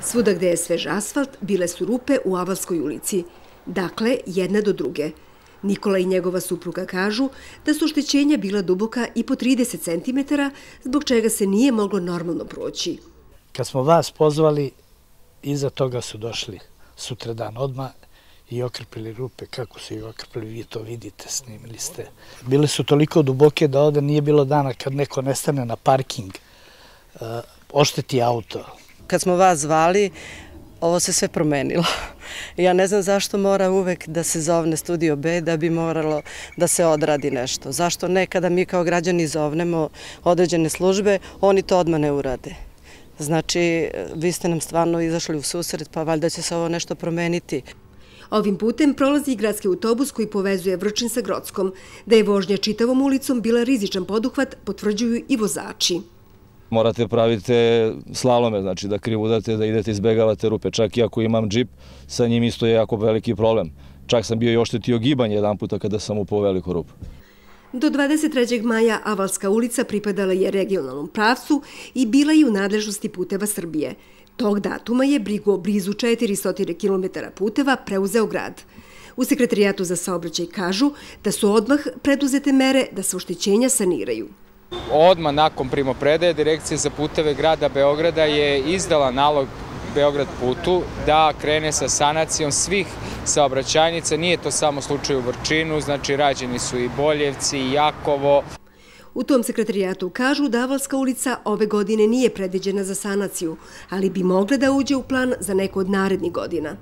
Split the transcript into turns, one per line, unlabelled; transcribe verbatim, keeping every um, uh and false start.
Svuda gde je svež asfalt, bile su rupe u Avalskoj ulici. Dakle, jedna do druge. Nikola i njegova supruga kažu da su oštećenja bila duboka i po trideset centimetara, zbog čega se nije moglo normalno proći.
Kad smo vas pozvali, iza toga su došli sutradan odmah i okrpili rupe. Kako su ih okrpili, vi to vidite, snimili ste. Bile su toliko duboke da ovde nije bilo dana kad neko nestane na parking, ošteti auto.
Kad smo vas zvali, ovo se sve promenilo. Ja ne znam zašto mora uvek da se zovne Studio B da bi moralo da se odradi nešto. Zašto ne kada mi kao građani zovnemo određene službe, oni to odmah ne urade. Znači, vi ste nam stvarno izašli u susret, pa valjda će se ovo nešto promeniti.
Ovim putem prolazi i gradski autobus koji povezuje Vrčin sa Grockom. Da je vožnja čitavom ulicom bila rizičan poduhvat, potvrđuju i vozači.
Morate pravite slalome, znači da krivudate, da idete, izbegavate rupe. Čak i ako imam džip, sa njim isto je jako veliki problem. Čak sam bio i oštetio gibanje jedan puta kada sam upao u veliku rupu.
Do dvadeset trećeg maja Avalska ulica pripadala je regionalnom pravcu i bila je u nadležnosti Puteva Srbije. Tog datuma je brigu o blizu četiristo kilometara puteva preuzeo grad. U Sekretarijatu za saobraćaj kažu da su odmah preduzete mere da se oštećenja saniraju.
Odmah nakon primopredaje Direkcija za puteve grada Beograda je izdala nalog Beograd putu da krene sa sanacijom svih saobraćajnica. Nije to samo slučaj u Vrčinu, znači rađeni su i Boljevci i Jakovo.
U tom sekretarijatu kažu da Avalska ulica ove godine nije predviđena za sanaciju, ali bi mogla da uđe u plan za neko od narednih godina.